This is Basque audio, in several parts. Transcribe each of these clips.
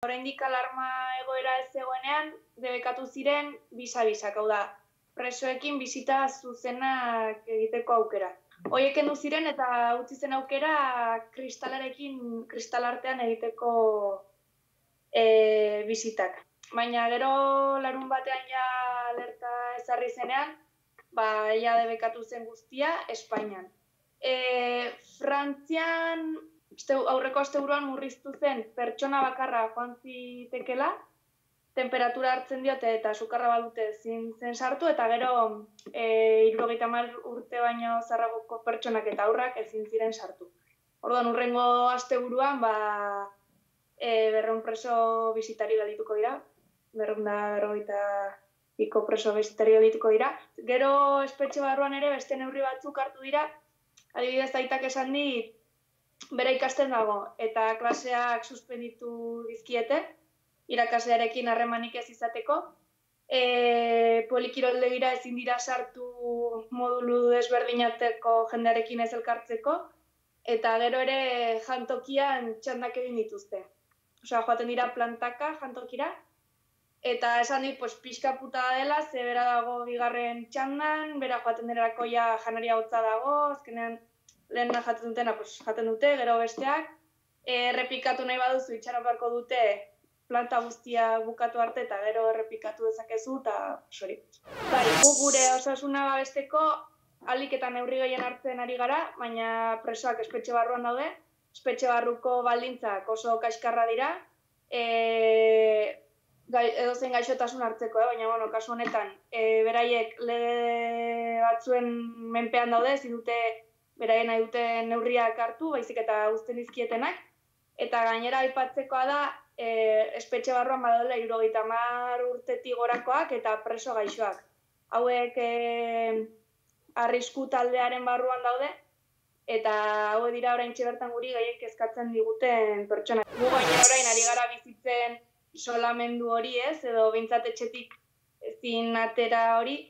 Oraindik alarma egoera ez zegoenean, debekatu ziren bisa-bisak, hau da, presoekin bisita zuzenak egiteko aukera. Horiek kendu ziren eta utzi zen aukera kristalartean egiteko bisitak. Baina gero larun batean ja alerta ezarri zenean, ja debekatu zen guztia Espainian. Frantzian aurreko asteburuan murriztu zen pertsona bakarra joan zitekela, temperatura hartzen diote eta sukarra badute ezin zen sartu, eta gero 70 urte baino zaharragoko pertsonak eta haurrak ezin ziren sartu. Orduan, hurrengo asteburuan 200 preso bisitari geldituko dira, 250 preso bisitari geldituko dira. Gero espetxe barruan ere beste neurri batzuk hartu dira, adibidez aitak esan dit, bere ikasten dago eta klaseak suspenditu dizkiete, irakaslearekin harremanik ez izateko. Polikiroldegira ezin dira sartu modulu desberdinateko jendearekin ez elkartzeko, eta gero ere jantokian txandak egin dituzte. Osea, joaten dira plantaka jantokira, eta esan dit, pixka puta dela, ze bera dago bigarren txandan, bera joaten derako ja janaria hotza dago, azkenean lehen jaten dutena jaten dute, gero besteak, errepikatu nahi baduzu itxaron beharko dute planta guztia bukatu arte eta gero errepikatu dezakezu, eta sori. Gu gure osasuna babesteko ahalik eta neurri gehien hartzen ari gara, baina presoak espetxe barruan daude, espetxe barruko baldintzak oso kaskarra dira, edozein gaixotasun hartzeko, baina kasu honetan beraiek lege batzuen menpean daude, ezin dute beraien nahi duten neurriak hartu, baizik eta uzten dizkietenak, eta gainera aipatzekoa da, espetxe barruan badaudela 70 urtetik gorakoak eta preso gaixoak. Hauek arrisku taldearen barruan daude, eta hauek dira oraintxe bertan guri gehien kezkatzen diguten pertsonak. Gu gainera orain ari gara bizitzen isolamendu hori ez, edo behintzat etxetik ezin atera hori,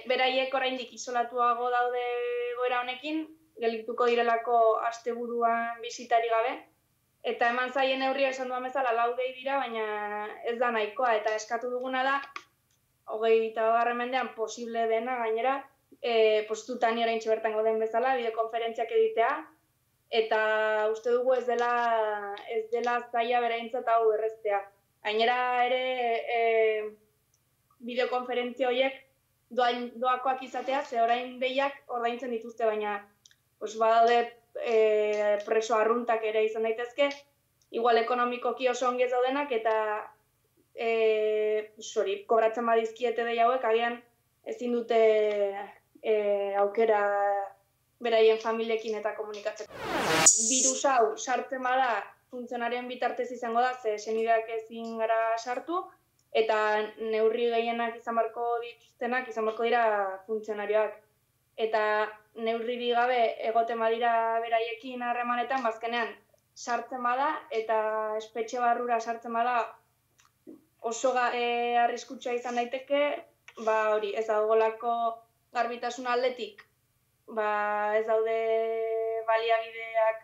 beraiek oraindik isolatuago daude egoera honekin, geldituko direlako asteburuan bisitari gabe, eta eman zaien neurria esan duan bezala 4 dei dira, baina ez da nahikoa, eta eskatu duguna da, 21. mendean posible dena gainera, postutan oraintxe bertan gauden bezala, bideokonferentziak egitea, eta uste dugu ez dela zaila beraintzat hau erreztea. Gainera ere bideokonferentzia horiek doakoak izatea, ze orain behiak ordaintzen dituzte, baina badaude preso arruntak ere izan daitezke, igual ekonomikoki oso ongi ez daudenak, eta kobratzen badizkiete dei hauek, agian ezin dute aukera beraien familiekin eta komunikatzeko. Virus hau sartzen bada funtzionarioen bitartez izango da, ze senideak ezin gara sartu, eta neurri gehienak izan beharko dituztenak izan beharko dira funtzionarioak. Eta neurri gabe egoten badira beraiekin harremanetan, bazkenean sartzen bada, eta espetxe barrura sartzen bada oso arriskutsua izan daiteke, hori, ez daugolako garbitasun aldetik, ez daude baliabideak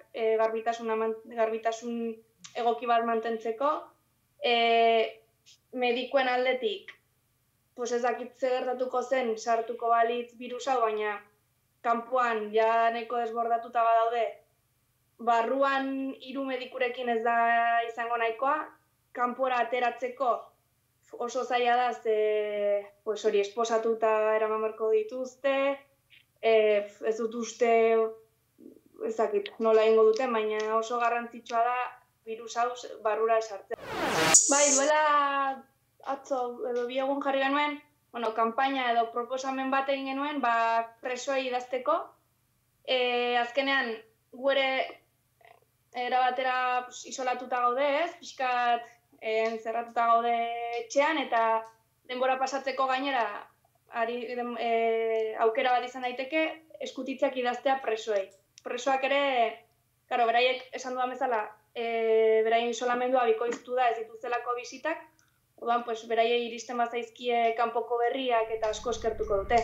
garbitasun egoki bat mantentzeko, medikuen aldetik, ez dakit zer gertatuko zen sartuko balitz virus hau, baina kanpoan ja nahiko desbordatuta badaude, barruan 3 medikurekin ez da izango nahikoa, kanpora ateratzeko oso zaila da, ze esposatuta eraman beharko dituzte, ez dut uste, ez dakit nola egingo duten, baina oso garrantzitsua da virus hau barrura esartzen. Bai, duela atzo edo 2 egun jarri genuen, kanpaina edo proposamen bat egin genuen, presoei idazteko. Azkenean, gu ere erabatera isolatuta gaude, ez? Pixkat entzerratuta gaude etxean, eta denbora pasatzeko gainera aukera bat izan daiteke eskutitzeak idaztea presoei. Presoak ere, beraiek esan dudan bezala, beraien isolamendua bikoiztu da ez dituztelako bisitak, orduan, beraiei iristen bazaizkie kanpoko berriak eta asko eskertuko dute.